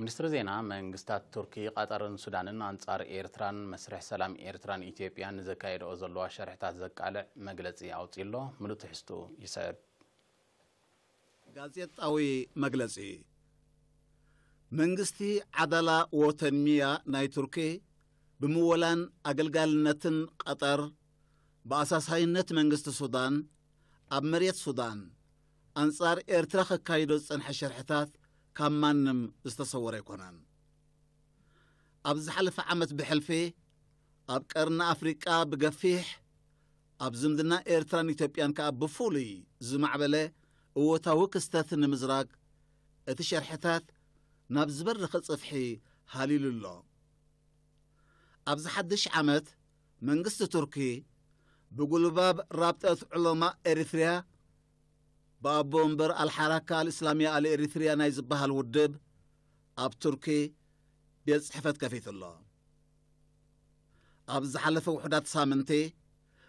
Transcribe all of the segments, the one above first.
ሚኒስትሪ ዜና መንግስታት ቱርኪ፣ ቀጠርን ሱዳንን ኣንጻር ኤርትራን መስርሕ ሰላም ኤርትራን ኢትዮጵያን ንዘካየድኦ ዘለዋ ሸርሕታት ዘቃልዕ መግለጺ ኣውጺኡ ኣሎ። ምሉእ ትሕዝትኡ ይስዕብ። ጋዜጣዊ መግለጺ። መንግስቲ ዓዳላ ወተንሚያ ናይ ቱርኪ ብምወላን ኣገልጋልነትን ቀጠር ብኣሳሳይነት መንግስቲ ሱዳን ኣብ መሬት ሱዳን ኣንጻር ኤርትራ ከካይዶ ዝጸንሐ ሸርሕታት ካብ ማንም ዝተሰወረ ኣይኮነን። ኣብ ዝሓለፈ ዓመት ብሕልፊ ኣብ ቀርኒ ኣፍሪቃ ብገፊሕ ኣብ ዝምድና ኤርትራን ኢትዮጵያን ከኣ ብፍሉይ ዝማዕበለ እወታዊ ክስተት ንምዝራግ እቲ ሸርሕታት ናብ ዝበረኸ ጽፍሒ ሃሊሉ ኣሎ። ኣብዚ ሓድሽ ዓመት መንግስቲ ቱርኪ ብጉልባብ ራብጠት ዑለማ ኤሪትርያ ብኣቦ ወንበር ኣልሓራካ ኣልእስላምያ ኣልኤሪትርያ ናይ ዝበሃል ውድብ ኣብ ቱርኪ ቤት ጽሕፈት ከፊቱ ኣሎ። ኣብ ዝሓለፈ ውሑዳት ሳምንቲ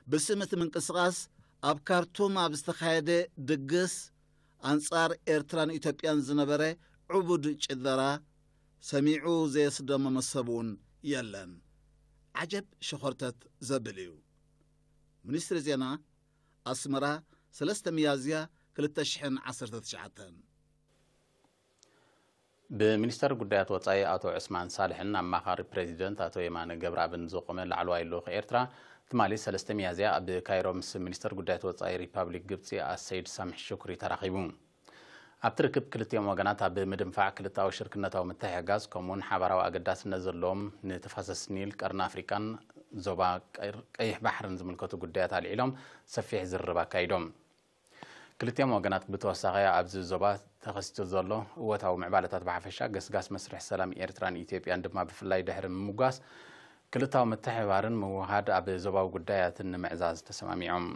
ብስም እቲ ምንቅስቓስ ኣብ ካርቱም ኣብ ዝተኻየደ ድግስ ኣንጻር ኤርትራን ኢትዮጵያን ዝነበረ ዕቡድ ጭደራ ሰሚዑ ዘየስደመመ ሰብ እውን የለን። ዓጀብ ሸኾርተት ዘብል እዩ። ሚኒስትሪ ዜና ኣስመራ፣ ሰለስተ ሚያዝያ ክልተ ሽሕን ዓሰርተ ትሽዓተን። ብሚኒስተር ጉዳያት ወጻኢ ኣቶ ዑስማን ሳልሕን ኣማኻሪ ፕሬዚደንት ኣቶ የማነ ገብረኣብን ዝቖመ ላዕለዋይ ልኡኽ ኤርትራ፣ ትማሊ ሰለስተ ሚያዝያ ኣብ ካይሮ ምስ ሚኒስተር ጉዳያት ወጻኢ ሪፓብሊክ ግብጺ ኣሰይድ ሳምሕ ሹክሪ ተራኺቡ። ኣብቲ ርክብ ክልቲኦም ወገናት ኣብ ምድንፋዕ ክልተኣዊ ሽርክነታዊ ምትሕግጋዝ፣ ከምኡውን ሓባራዊ ኣገዳስነት ዘለዎም ንተፋሰስ ኒል፣ ቀርኒ ኣፍሪቃን ዞባ ቀር-፣ ቀይሕ ባሕርን ዝምልከቱ ጉዳያት ኣልዒሎም ሰፊሕ ዝርርብ ኣካይዶም። ክልቲኦም ወገናት ብተወሳኺ ኣብዚ ዞባ ተኸሲቱ ዘሎ እወታዊ ምዕባለታት ብሓፈሻ፣ ገስጋስ መስርሕ ሰላም ኤርትራን ኢትዮጵያን ድማ ብፍላይ ድሕሪ ምምጓስ፣ ክልታዊ ምትሕብባርን ምውሃድ ኣብ ዞባዊ ጉዳያትን ንምዕዛዝ ተሰማሚዖም።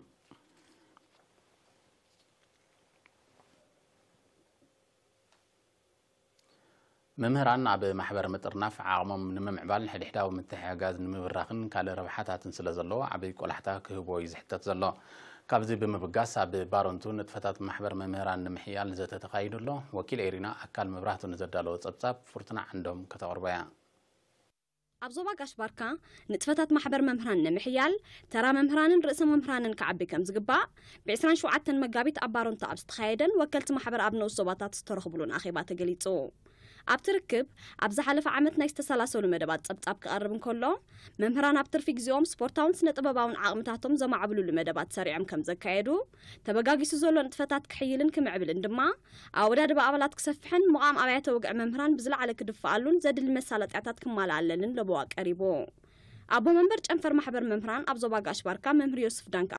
መምህራን ኣብ ማሕበር ምጥርናፍ ዓቕሞም ንምምዕባል፣ ንሕድሕዳዊ ምትሕግጋዝ ንምብራኽን ካልእ ረብሓታትን ስለ ዘለዎ ዓብዪ ቆላሕታ ክህብዎ እዩ ዝሕተት ዘሎ። ካብዚ ብምብጋስ ኣብ ባረንቱ ንጥፈታት ማሕበር መምህራን ንምሕያል ዘተ ተኻይዱ ኣሎ። ወኪል ኤሪና ኣካል መብራህቱ ንዘዳለዎ ጸብጻብ ፍርቱና ዓንዶም ከተቕርቦ እያ። ኣብ ዞባ ጋሽ ባርካ ንጥፈታት ማሕበር መምህራን ንምሕያል ተራ መምህራንን ርእሰ መምህራንን ክዓቢ ከም ዝግባእ ብ ዕስራን ሸውዓተን መጋቢት ኣብ ባረንቱ ኣብ ዝተኻየደን ወከልቲ ማሕበር ኣብ ንኡስ ዞባታት ዝተረኽብሉን ኣኼባ ተገሊጹ። ኣብቲ ርክብ ኣብ ዝሓለፈ ዓመት ናይ ዝተሰላሰሉ መደባት ጸብጻብ ክቐርብ እንከሎ፣ መምህራን ኣብ ትርፊ ግዜኦም ስፖርታውን ስነ ጥበባውን ዓቕምታቶም ዘማዕብሉሉ መደባት ሰሪዖም ከም ዘካየዱ፣ ተበጋጊሱ ዘሎ ንጥፈታት ክሕይልን ክምዕብልን ድማ ኣወዳድባ ኣባላት ክሰፍሕን ምቓም ኣብያተ ወግዒ መምህራን ብዝለዓለ ክድፍኣሉን ዘድሊ መሳለጥያታት ክማልኣለንን ለበዋ ቀሪቡ። ኣቦ መንበር ጨንፈር ማሕበር መምህራን ኣብ ዞባ ጋሽ ባርካ መምህር ዮስፍ ዳንካ